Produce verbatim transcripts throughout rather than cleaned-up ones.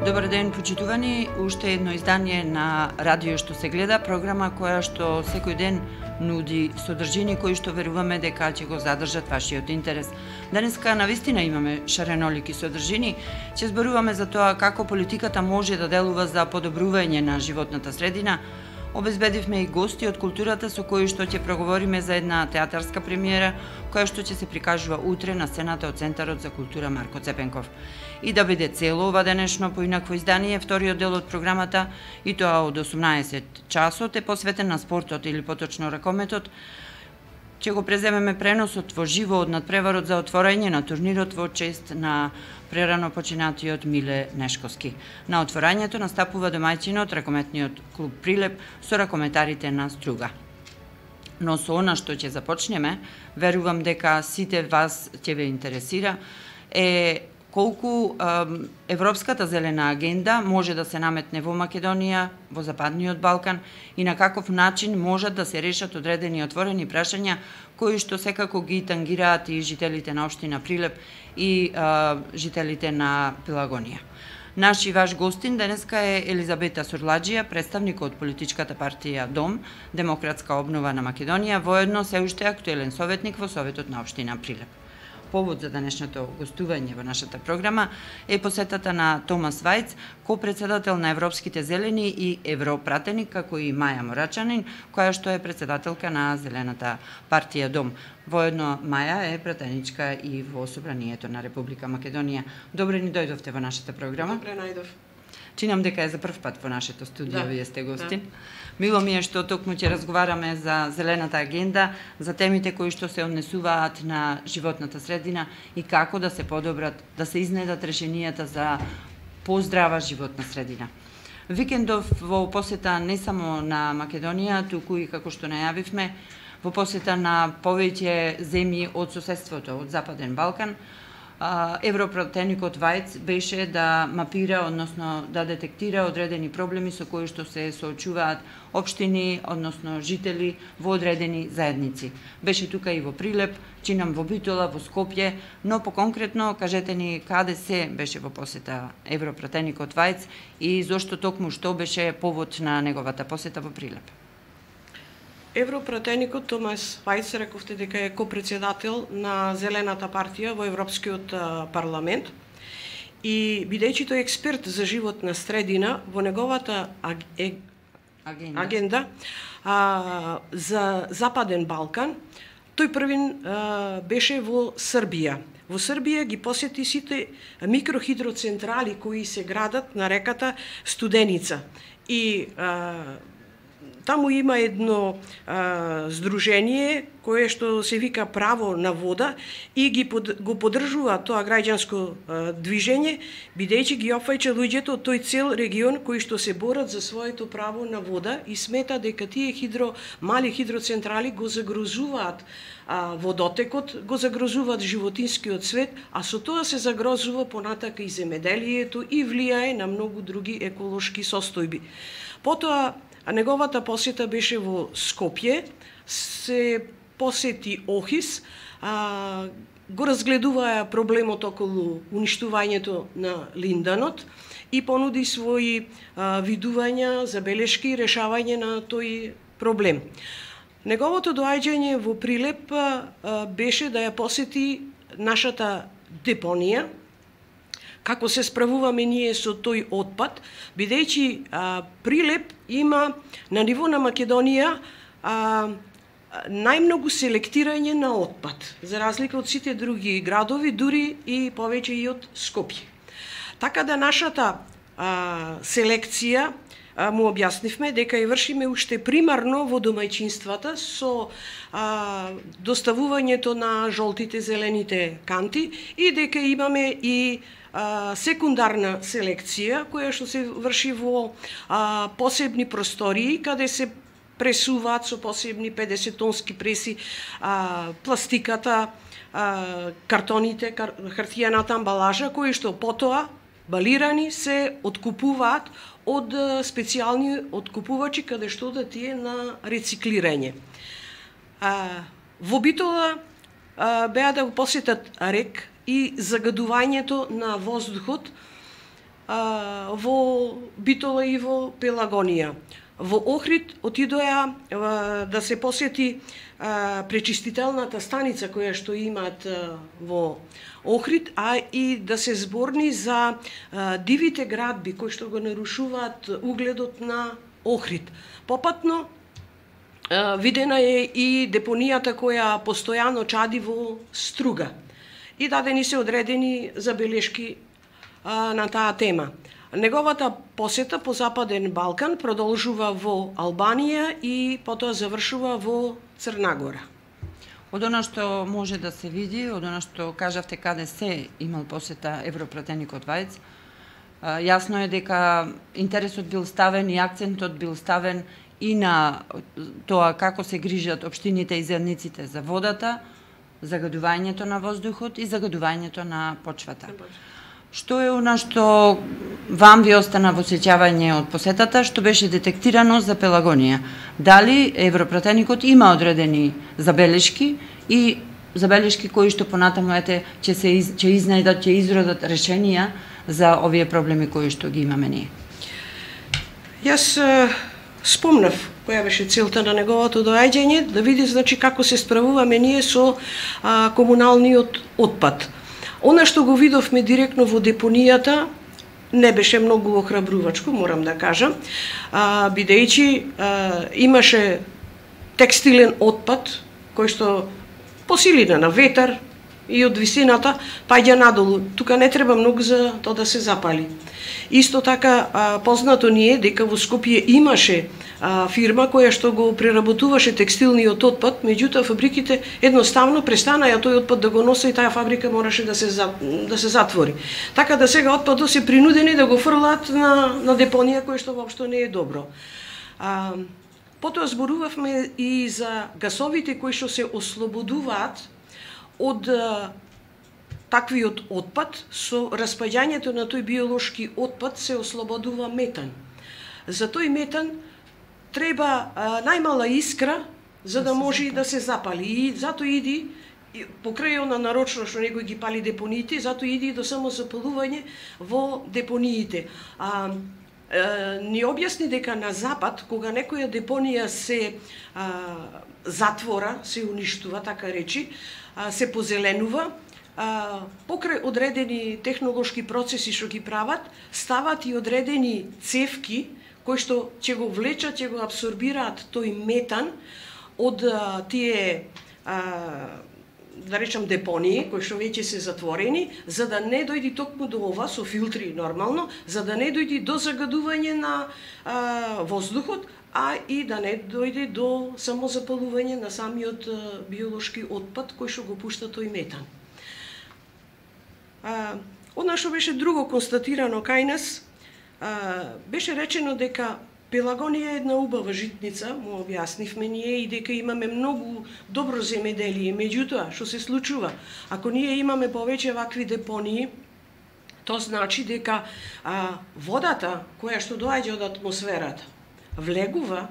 Добар ден, почитувани. Уште едно издание на Радио што се гледа, програма која што секој ден нуди содржини кои што веруваме дека ќе го задржат вашиот интерес. Денеска навистина имаме шаренолики содржини. Ќе зборуваме за тоа како политиката може да делува за подобрување на животната средина. Обезбедивме и гости од културата со кои што ќе проговориме за една театарска премиера која што ќе се прикажува утре на сцената од Центарот за култура Марко Цепенков. И да биде цело ова денешно поинакво издание, вториот дел од програмата, и тоа од осумнаесет часот, е посветен на спортот или поточно ракометот. Ќе го преземеме преносот во живо од надпреварот за отворање на турнирот во чест на прерано починатиот Миле Нешковски. На отворањето настапува домаќинот ракометниот клуб Прилеп со ракометарите на Струга. Но со она што ќе започнеме, верувам дека сите вас ќе ве интересира, е колку е, Европската зелена агенда може да се наметне во Македонија, во Западниот Балкан и на каков начин можат да се решат одредени отворени прашања кои што секако ги тангираат и жителите на општина Прилеп и е, жителите на Пелагонија. Наш и ваш гостин денеска е Елизабета Сурладжија, представник од политичката партија Дом, Демократска обнова на Македонија, воедно се уште актуелен советник во Советот на општина Прилеп. Повод за денешното гостување во нашата програма е посетата на Томас Вајц, ко-председател на Европските зелени и европратеник, како и Маја Морачанин, која што е председателка на Зелената партија Дом. Воедно Маја е пратеничка и во Собранието на Република Македонија. Добре ни дојдовте во нашата програма. Добре најдов. Чинам дека е за прв пат во нашето студио, да, вие сте гостин. Да. Мило ми е што токму ќе разговараме за зелената агенда, за темите кои што се однесуваат на животната средина и како да се подобрат, да се изнедат решенијата за поздрава животна средина. Викендов во посета не само на Македонија, туку и како што најавивме, во посета на повеќе земји од соседството, од Западен Балкан, европратеникот Вајц беше да мапира, односно да детектира одредени проблеми со кои што се соочуваат општини, односно жители во одредени заедници. Беше тука и во Прилеп, чинам во Битола, во Скопје, но поконкретно кажете ни каде се беше во посета европратеникот Вајц и зошто токму што беше повод на неговата посета во Прилеп. Европратеникот Томас Вајц, рековте дека е ко-председател на Зелената партија во Европскиот парламент и бидејќи тој експерт за животна средина во неговата аг... е... агенда, агенда а, за Западен Балкан, тој првин а, беше во Србија. Во Србија ги посети сите микрохидроцентрали кои се градат на реката Студеница и а, таму има едно а, здружение кое што се вика Право на вода и ги под, го поддржува тоа граѓанско а, движење, бидејќи ги опфаќа луѓето од тој цел регион кои што се борат за своето право на вода и смета дека тие хидро мали хидроцентрали го загрозуваат а, водотекот, го загрозуваат животинскиот свет, а со тоа се загрозува понатака и земеделието и влијае на многу други еколошки состојби. Потоа а неговата посета беше во Скопје, се посети Охис, а, го разгледуваа проблемот околу уништувањето на линданот и понуди своји а, видувања, забелешки и решавање на тој проблем. Неговото доаѓање во Прилеп а, беше да ја посети нашата депонија, како се справуваме ние со тој отпад, бидејќи а, Прилеп има на ниво на Македонија а, најмногу селектирање на отпад, за разлика од сите други градови, дури и повеќе и од Скопје. Така да нашата а, селекција а, му објаснивме дека ја вршиме уште примарно во домаќинствата со а, доставувањето на жолтите, зелените канти и дека имаме и а, секундарна селекција која што се врши во а, посебни простории каде се пресуваат со посебни педесет тонски преси а, пластиката, а, картоните, кар, хартијаната амбалажа кои што потоа балирани се откупуваат од специјални откупувачи каде што да тие на рециклирање. А, во Битола а, беа да го посетат РЕК и загадувањето на воздухот а, во Битола и во Пелагонија. Во Охрид отидоа а, да се посети а, пречистителната станица која што имаат а, во Охрид, а и да се зборни за а, дивите градби кои што го нарушуваат угледот на Охрид. Попатно а, видена е и депонијата која постојано чади во Струга и дадени се одредени забелешки а, на таа тема. Неговата посета по Западен Балкан продолжува во Албанија и потоа завршува во Црна Гора. Од она што може да се види, од она што кажавте каде се имал посета европратеникот Вајц, јасно е дека интересот бил ставен и акцентот бил ставен и на тоа како се грижат општините и заедниците за водата, загадувањето на воздухот и загадувањето на почвата. Што е она што вам ви остана во сеќавање од посетата, што беше детектирано за Пелагонија? Дали европратеникот има одредени забелешки и забелешки кои што понатаму ете ќе се из, ќе изнајдат, ќе изродат решенија за овие проблеми кои што ги имаме ние? Јас е, спомнав која беше целта на неговото доаѓање, да види значи како се справуваме ние со а, комуналниот отпад. Она што го видовме директно во депонијата не беше многу охрабрувачко, морам да кажам, а, бидејќи а, имаше текстилен отпад кој што по силина на ветар и од висината паѓа надолу. Тука не треба многу за тоа да се запали. Исто така а, познато ни е дека во Скопје имаше а, фирма која што го преработуваше текстилниот отпад, меѓутоа фабриките едноставно престанаја тој отпад да го носи и таа фабрика мораше да се за, да се затвори. Така да сега отпадот се принудени да го фрлаат на на депонија кој што воопшто не е добро. А, потоа зборувавме и за гасовите кои што се ослободуваат од а, таквиот отпад. Со распаѓањето на тој биолошки отпад се ослободува метан. За тој метан треба а, најмала искра за да може и да се запали. И затоа иди покрај она нарочно што некој ги пали депониите, затоа иди до само запалување во депониите. А, а, ни објасни дека на запад кога некоја депонија се а, затвора, се уништува, така речи, а, се позеленува, а, покрај одредени технолошки процеси што ги прават, стават и одредени цевки кои што ќе го влечат, ќе го абсорбираат тој метан од а, тие а, да речам депонии кои што веќе се затворени, за да не дојди токму до ова со филтри нормално, за да не дојди до загадување на а, воздухот, а и да не дојде до самозапалување на самиот а, биолошки отпад кој што го пушта тој метан. А, она што беше друго констатирано кај нас, а, беше речено дека Пелагонија е една убава житница, му објаснивме ние, и дека имаме многу добро земеделие. Меѓутоа, што се случува? Ако ние имаме повеќе вакви депонии, тоа значи дека а, водата која што доаѓа од атмосферата влегува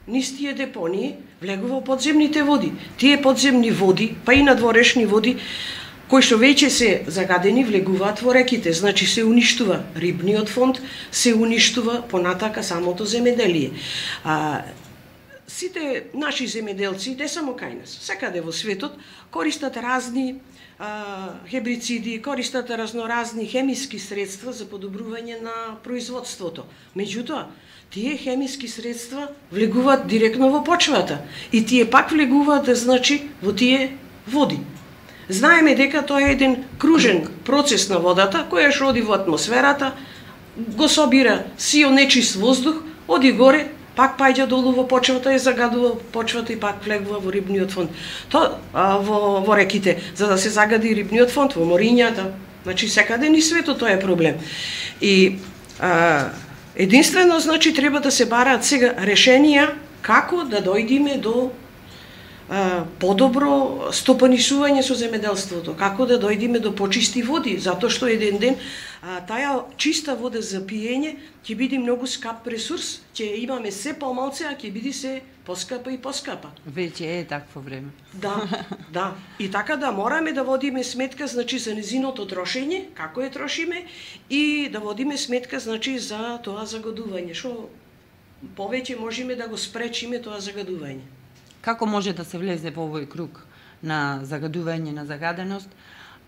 низ тие депонии, влегува во подземните води. Тие подземни води, па и надворешни води, кои што веќе се загадени, влегуваат во реките, значи се уништува рибниот фонд, се уништува понатака самото земеделие. А, сите наши земеделци, не само кај нас, секаде во светот, користат разни а, хербициди, користат разноразни хемиски средства за подобрување на производството. Меѓутоа, тие хемиски средства влегуваат директно во почвата и тие пак влегуваат, значи, во тие води. Знаеме дека тоа е еден кружен процес на водата, која што оди во атмосферата, го собира сио нечист воздух, оди горе, пак паѓа долу во почвата и загадува почвата и пак влегува во рибниот фонд. Тоа во, во реките, за да се загади рибниот фонд, во морињата, значи секаде ни светот тоа е проблем. И а, единствено, значи, треба да се бараат сега решенија како да дојдеме до подобро стопанисување со земјоделството, како да дојдеме до почисти води, затоа што еден ден а, таа чиста вода за пиење ќе биде многу скап ресурс, ќе имаме се помалце, а ќе биде се поскапа и поскапа. Веќе е такво време. Да, да. И така да мораме да водиме сметка, значи, за незиното трошење, како е трошиме, и да водиме сметка, значи, за тоа загадување, што повеќе можеме да го спречиме тоа загадување. Како може да се влезе во овој круг на загадување, на загаденост,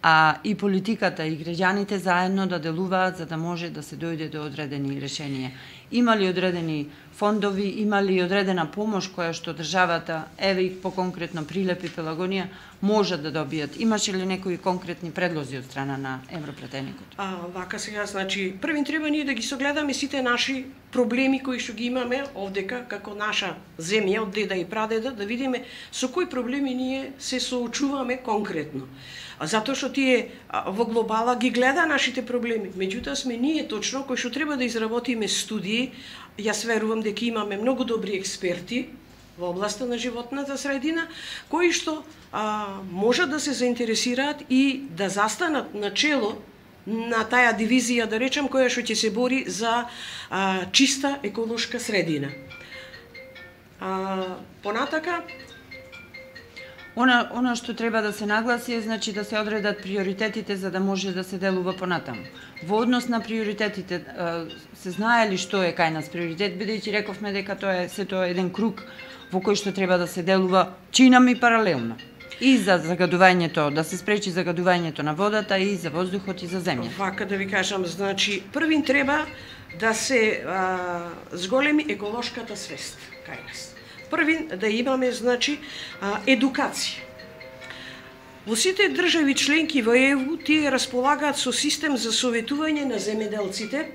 а и политиката и граѓаните заедно да делуваат за да може да се дојде до одредени решенија? Има ли одредени фондови, има ли одредена помош која што државата, еве и по-конкретно Прилеп и Пелагонија, можат да добијат? Имаше ли некои конкретни предлози од страна на Европратеникот? А, вака сега, значи, првин треба ние да ги согледаме сите наши проблеми кои што ги имаме овдека, како наша земја, од деда и прадеда, да видиме со кои проблеми ние се соочуваме конкретно. А затоа што тие а, во глобала ги гледа нашите проблеми. Меѓутоа сме ние точно кои што треба да изработиме студии. Јас верувам дека имаме многу добри експерти во областа на животната средина, кои што а, можат да се заинтересираат и да застанат на чело на таа дивизија, да речем, која што ќе се бори за а, чиста еколошка средина. А, понатака, Она, она што треба да се нагласи е, значи, да се одредат приоритетите за да може да се делува понатаму. Во однос на приоритетите, се знае ли што е кај нас приоритет, бидејќи рековме дека тоа е сето еден круг во кој што треба да се делува чинами паралелно. И за загадувањето, да се спречи загадувањето на водата, и за воздухот, и за земјата. Вака да ви кажам, значи, првин треба да се а, зголеми еколошката свест кај нас. Првин да имаме, значи, едукација. Во сите држави членки во Е У тие располагаат со систем за советување на земјоделците,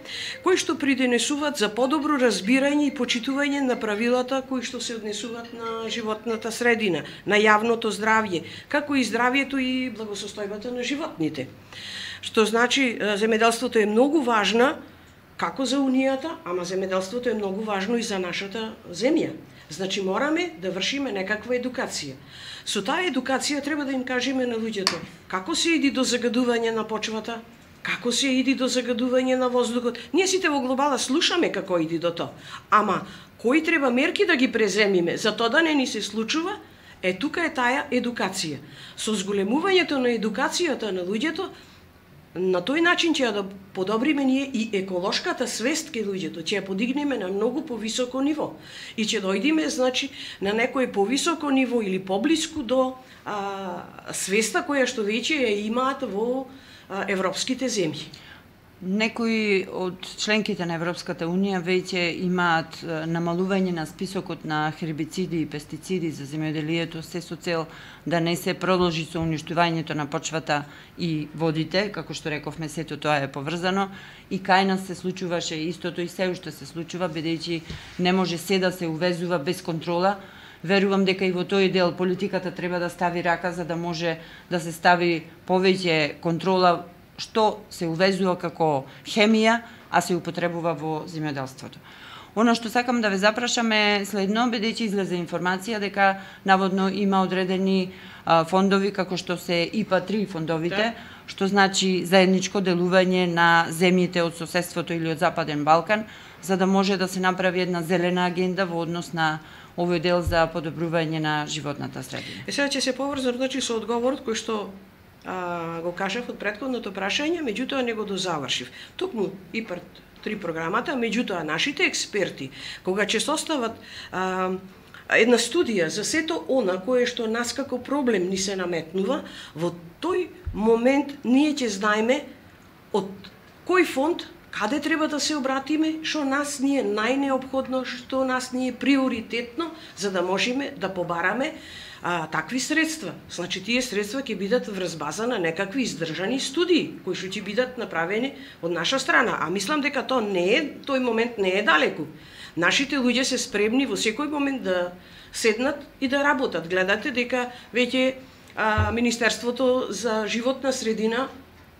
кои што придонесуваат за подобро разбирање и почитување на правилата кои што се однесуваат на животната средина, на јавното здравје, како и здравјето и благосостојбата на животните. Што значи, земјоделството е многу важна како за Унијата, ама земјоделството е многу важно и за нашата земја. Значи мораме да вршиме некаква едукација. Со таа едукација треба да им кажеме на луѓето како се иди до загадување на почвата, како се иди до загадување на воздухот. Ние сите во глобала слушаме како иди до тоа, ама кои треба мерки да ги преземиме за тоа да не ни се случува, е тука е таа едукација. Со зголемувањето на едукацијата на луѓето, на тој начин ќе ја да подобриме ние и еколошката свест кај луѓето, ќе ја подигнеме на многу повисоко ниво и ќе дојдеме, значи, на некој повисоко ниво или поблиску до а, свеста која што веќе ја имаат во а, европските земји. Некои од членките на Европската Унија веќе имаат намалување на списокот на хербициди и пестициди за земјоделието, се со цел да не се продолжи со уништувањето на почвата и водите, како што рековме, сето тоа е поврзано, и кај нас се случуваше истото и се уште се случува, бидејќи не може се да се увезува без контрола. Верувам дека и во тој дел политиката треба да стави рака за да може да се стави повеќе контрола што се увезува како хемија, а се употребува во земјоделството. Оно што сакам да ве запрашам е следно, бидејќи излезе информација дека наводно има одредени а, фондови како што се И П А три фондовите, да, што значи заедничко делување на земјите од соседството или од Западен Балкан, за да може да се направи една зелена агенда во однос на овој дел за подобрување на животната средина. Е сега ќе се поврзам, значи, со одговорот кој што а, го кажав од претходното прашање, меѓутоа не го дозавршив. Токму И П А три програмата, меѓутоа нашите експерти, кога ќе состават а, една студија за сето она кое што нас како проблем ни се наметнува, во тој момент ние ќе знаеме од кој фонд, каде треба да се обратиме, што нас ни е најнеопходно, што нас ни е приоритетно, за да можеме да побараме а, такви средства. Значи, тие средства ќе бидат врз база на некакви издржани студии, кои што ќе бидат направени од наша страна. А мислам дека тоа не е, тој момент не е далеку. Нашите луѓе се спремни во секој момент да седнат и да работат. Гледате дека веќе а, Министерството за животна средина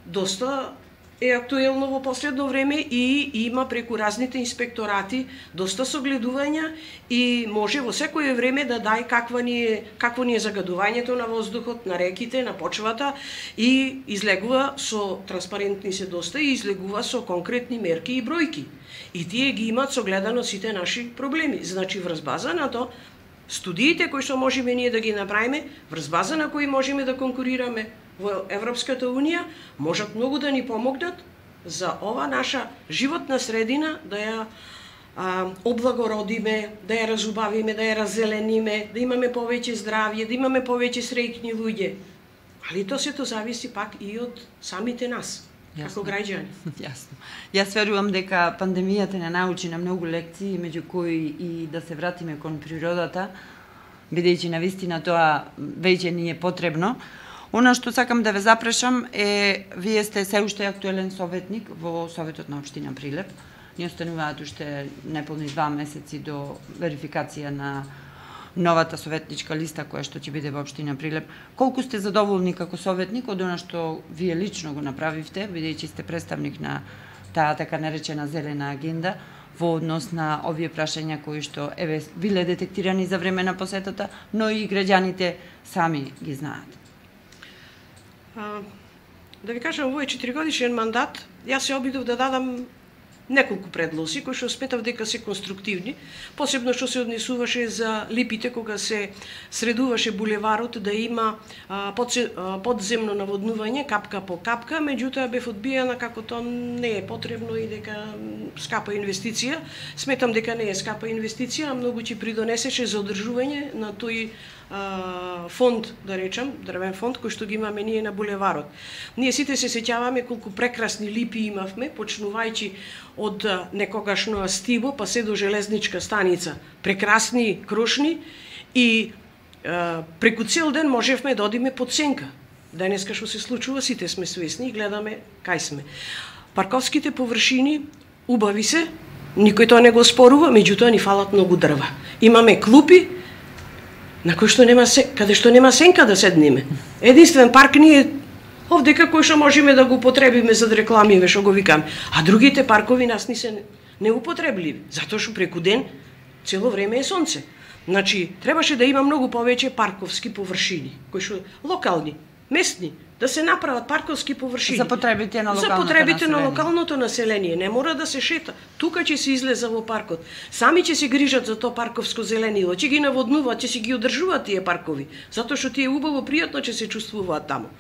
доста е актуелно во последно време и има преку разните инспекторати доста согледувања и може во секое време да дај каква ни е, какво ни е загадувањето на воздухот, на реките, на почвата и излегува со транспарентни се доста и излегува со конкретни мерки и бројки. И тие ги имаат согледано сите наши проблеми. Значи врз база на тоа студиите кои што можеме ние да ги направиме, врз база на кои можеме да конкурираме во Европската Унија, можат многу да ни помогнат за ова наша животна средина да ја а, облагородиме, да ја разубавиме, да ја раззелениме, да имаме повеќе здравје, да имаме повеќе среќни луѓе. Али тоа сето зависи пак и од самите нас, како граѓани. Јасно. Јас верувам дека пандемијата не научи на многу лекции, меѓу кои и да се вратиме кон природата, бидејќи навистина тоа веќе ни е потребно. Она што сакам да ве запрашам е, вие сте се уште актуелен советник во Советот на општина Прилеп. Ни остануваат уште неполни два месеци до верификација на новата советничка листа која што ќе биде во општина Прилеп. Колку сте задоволни како советник од она што вие лично го направивте, бидејќи сте представник на таа така наречена зелена агенда во однос на овие прашања кои што еве биле детектирани за време на посетата, но и граѓаните сами ги знаат? А, да ви кажам, овој четиригодишен мандат, јас се обидов да дадам неколку предлози кои што сметав дека се конструктивни, посебно што се однесуваше за липите кога се средуваше булеварот да има а, подсе, а, подземно наводнување капка по капка, меѓутоа бев одбиена како тоа не е потребно и дека скапа инвестиција. Сметам дека не е скапа инвестиција, а многу ќе придонесеше за одржување на тој фонд, да речам, дрвен фонд кој што ги имаме ние на булеварот. Ние сите се сеќаваме колку прекрасни липи имавме, почнувајќи од некогашно Астибо па се до железничка станица. Прекрасни крошни и е, преку цел ден можевме да одиме под сенка. Денеска што се случува, сите сме свесни и гледаме кај сме. Парковските површини убави се, никој тоа не го спорува, меѓутоа ни фалат многу дрва. Имаме клупи на кој што нема се, каде што нема сенка да седнеме. Единствен парк ни е овдека кој што можеме да го употребиме за да рекламиме, што го викаме. А другите паркови нас ни се неупотребливи, затоа што преку ден цело време е сонце. Значи, требаше да има многу повеќе парковски површини, кои што локални, местни, да се направат парковски површини. За потребите на локалното За потребите население. на локалното население. Не мора да се шета. Тука ќе се излеза во паркот. Сами ќе се грижат за тоа парковско зеленило, ќе ги наводнуваат, ќе си ги одржуваат тие паркови, затоа што тие убаво пријатно ќе се чувствуваат таму.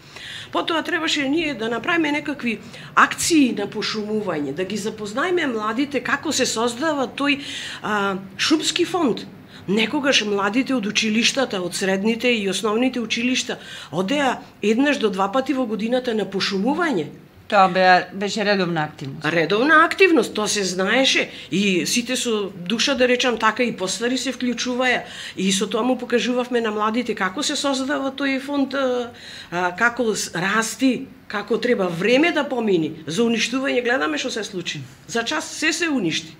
Потоа требаше ние да направиме некакви акции на пошумување, да ги запознаеме младите како се создава тој а, шумски фонд. Некогаш младите од училиштата, од средните и основните училишта, одеа еднаш до два пати во годината на пошумување. Тоа бе, беше редовна активност. Редовна активност, тоа се знаеше и сите со душа, да речам така, и постари се вклучуваја и со тоа му покажувавме на младите како се создава тој фонд, а, а, како расти, како треба време да помини. За уништување гледаме што се случи. За час се се уништи.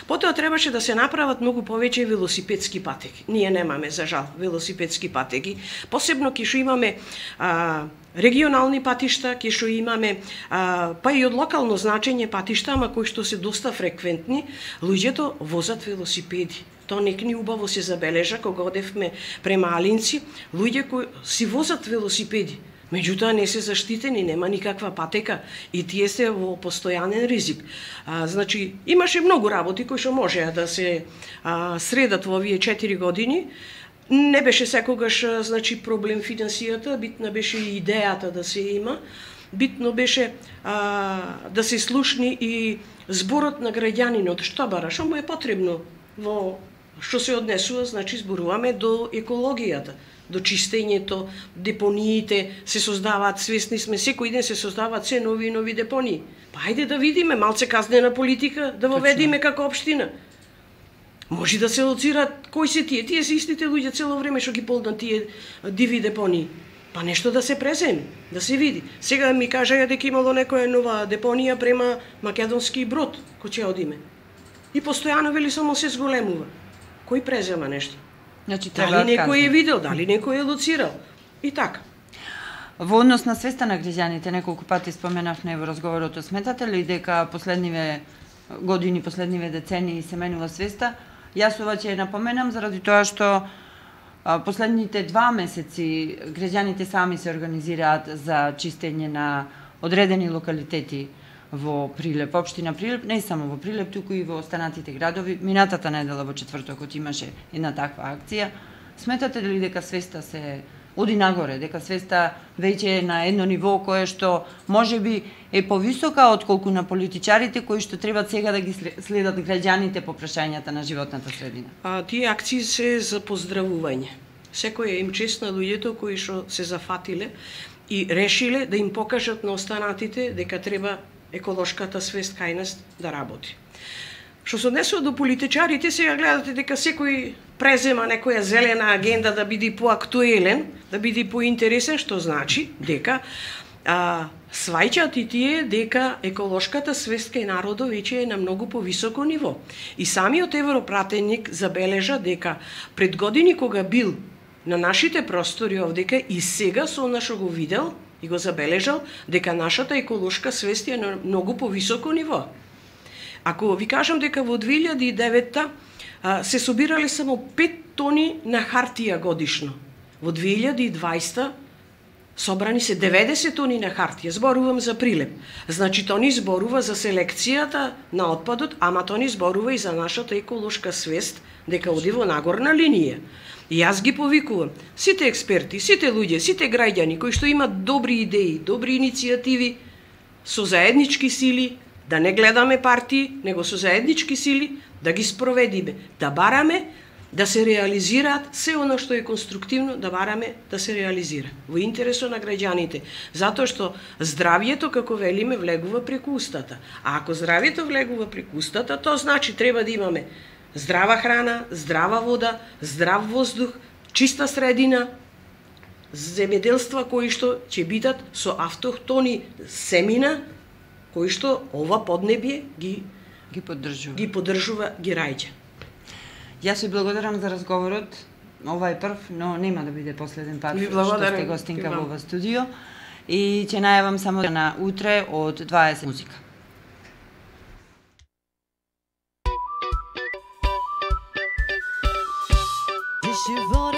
Потоа требаше да се направат многу повеќе велосипедски патеки. Ние немаме, за жал, велосипедски патеки. Посебно ке што имаме а, регионални патишта, ке што имаме а, па и од локално значење патишта, ама кои што се доста фреквентни, луѓето возат велосипеди. Тоа нек ни убаво се забележа кога одевме према Алинци, луѓе кои си возат велосипеди. Меѓутоа не се заштитени, нема никаква патека и тие се во постојанен ризик. А, значи, имаше многу работи кои што можеа да се а, средат во овие четири години. Не беше секогаш значи проблем финансијата, битна беше и идејата да се има. Битно беше а, да се слушни и зборот на граѓанинот, што бара, што му е потребно во што се однесува, значи зборуваме до екологијата, до чистењето, депониите се создаваат, свесни сме, секој ден се создаваат се нови и нови депонии. Па ајде да видиме, малце казнена политика да воведиме како општина. Може да се лоцираат кои се тие, тие се истите луѓе цело време што ги полнат тие диви депонии. Па нешто да се преземе, да се види. Сега ми кажаја дека имало некоја нова депонија према Македонски Брод, кој ќе одиме. И постојано вели само се зголемува. Кој презема нешто? Значи, дали некој е видел, дали некој е лоцирал. И така. Во однос на свеста на граѓаните, неколку пати споменавме во разговорот, сметате ли дека последниве години, последниве децении се менува свеста? Јас ова ќе напоменам заради тоа што последните два месеци граѓаните сами се организираат за чистење на одредени локалитети во Прилеп, општина Прилеп, не само во Прилеп, туку и во останатите градови. Минатата недела во четвртокот имаше една таква акција. Сметате ли дека свеста се оди нагоре, дека свеста веќе е на едно ниво кое што можеби е повисока отколку на политичарите кои што треба сега да ги следат граѓаните по прашањата на животната средина? А, тие акции се за поздравување. Секој им чест на луѓето кои што се зафатиле и решиле да им покажат на останатите дека треба еколошката свест кај нас да работи. Што се однесува до политичарите, сега гледате дека секој презема некоја зелена агенда да биде поактуелен, да биде поинтересен, што значи дека а, сваќаат и тие дека еколошката свест кај народот веќе е на многу повисоко ниво. И самиот европратеник забележа дека пред години кога бил на нашите простори овдека и сега со она што го видел и го забележал дека нашата еколошка свест е на многу повисоко ниво. Ако ви кажам дека во две илјади и девета се собирале само пет тони на хартија годишно, во две илјади и дваесета собрани се деветдесет тони на хартија, зборувам за Прилеп. Значи, тони зборува за селекцијата на отпадот, ама тони зборува и за нашата еколошка свест, дека оди во нагорна линија. И јас ги повикувам сите експерти, сите луѓе, сите граѓани кои што имат добри идеи, добри иницијативи, со заеднички сили, да не гледаме партии, него со заеднички сили да ги спроведиме, да бараме да се реализираат се оно што е конструктивно, да бараме да се реализира во интересот на граѓаните, затоа што здравјето, како велиме, влегува преку устата. А ако здравјето влегува преку устата, тоа значи треба да имаме здрава храна, здрава вода, здрав воздух, чиста средина, земјоделства кои што ќе бидат со автохтони семина, кои што ова поднебје ги ги поддржува. Ги поддржува, ги раѓа. Јас ви благодарам за разговорот. Ова е прв, но нема да биде последен пат што сте гостинка во ова студио. И ќе најавам само на утре од дваесет музика. Je